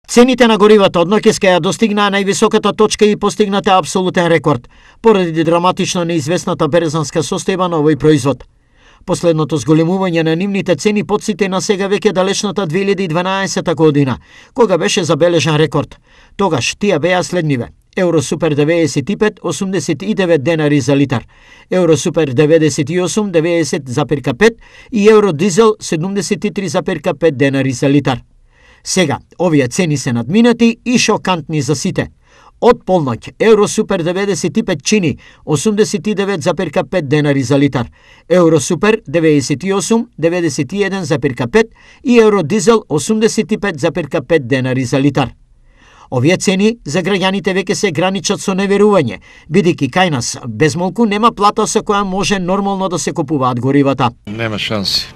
Цените на горивата од ноќеска ја достигнаа највисоката точка и постигнате апсолутен рекорд, поради драматично неизвестната берзанска состојба на овој производ. Последното зголемување на нивните цени потсети на сега веќе далечната 2012 година, кога беше забележан рекорд. Тогаш тие беа следниве: Евро Супер 95 89 денари за литар, Евро Супер 98 90,5 и Евро Дизел 73,5 денари за литар. Сега, овие цени се надминати и шокантни за сите. Од полноќ, Евро Супер 95 чини 89,5 денари за литар, Евро Супер 98 91,5 и Евро Дизел 85,5 денари за литар. Овие цени за граѓаните веќе се граничат со неверување, бидејќи кај нас безмолку нема плата со која може нормално да се купуваат горивата. Нема шанси.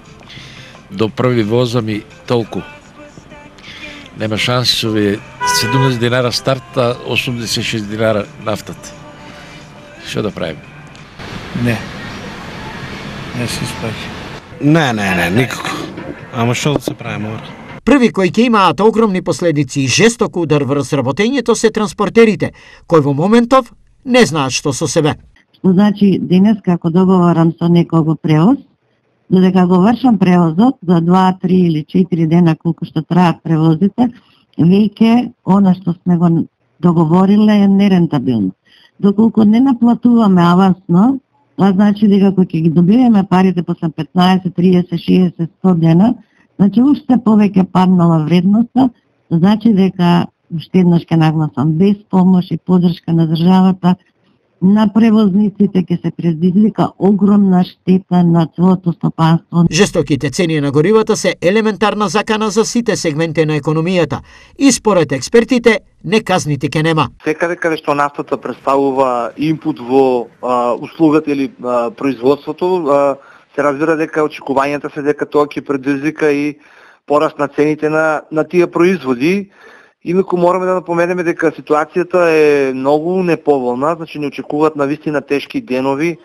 До први возам и толку. Нема шанси со овие 17 динара старта, 86 динара нафтата. Што да правим? Не се испаќа. Не, никако. Ама што да се прави мора? Први кои ќе имаат огромни последици и жесток удар врз работењето се транспортерите, кои во моментов не знаат што со себе. Што значи денес како договарам со некого превоз, додека го вршам превозот за 2, 3 или 4 дена колку што траат превозите, веќе она што сме го договориле е нерентабилно. Доколку не наплатуваме авансно, тоа значи дека кога ќе ги добиеме парите после 15, 30, 60, 100 дена, значи уште повеќе паднала вредноста, значи дека уште еднаш ќе нагласам, без помош и поддршка на државата, на превозниците ќе се предизвика огромна штета на целото стопанство. Жестоките цени на горивата се елементарна закана за сите сегменти на економијата и според експертите неказните ќе нема. Секаде каде што нафтата представува инпут во услугата или производството, се разбира дека очекувањата се дека тоа ќе предизвика и пораст на цените на тие производи. Инаку мораме да напоменеме дека ситуацијата е многу неповолна, значи не очекуваат навистина тешки денови,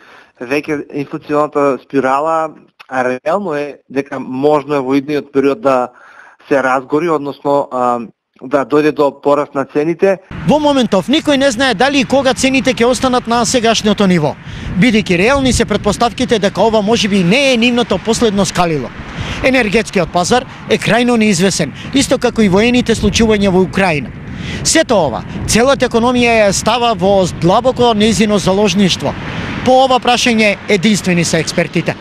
веќе инфлационата спирала, а реално е дека можно е во идниот период да се разгори, односно да дојде до пораст на цените. Во моментов никој не знае дали и кога цените ќе останат на сегашното ниво, бидејќи реални се претпоставките дека ова можеби не е нивното последно скалило. Енергетскиот пазар е крајно неизвесен, исто како и воените случувања во Украина. Сето ова, целата економија ја става во длабоко нејзино заложништво. По ова прашање единствени се експертите.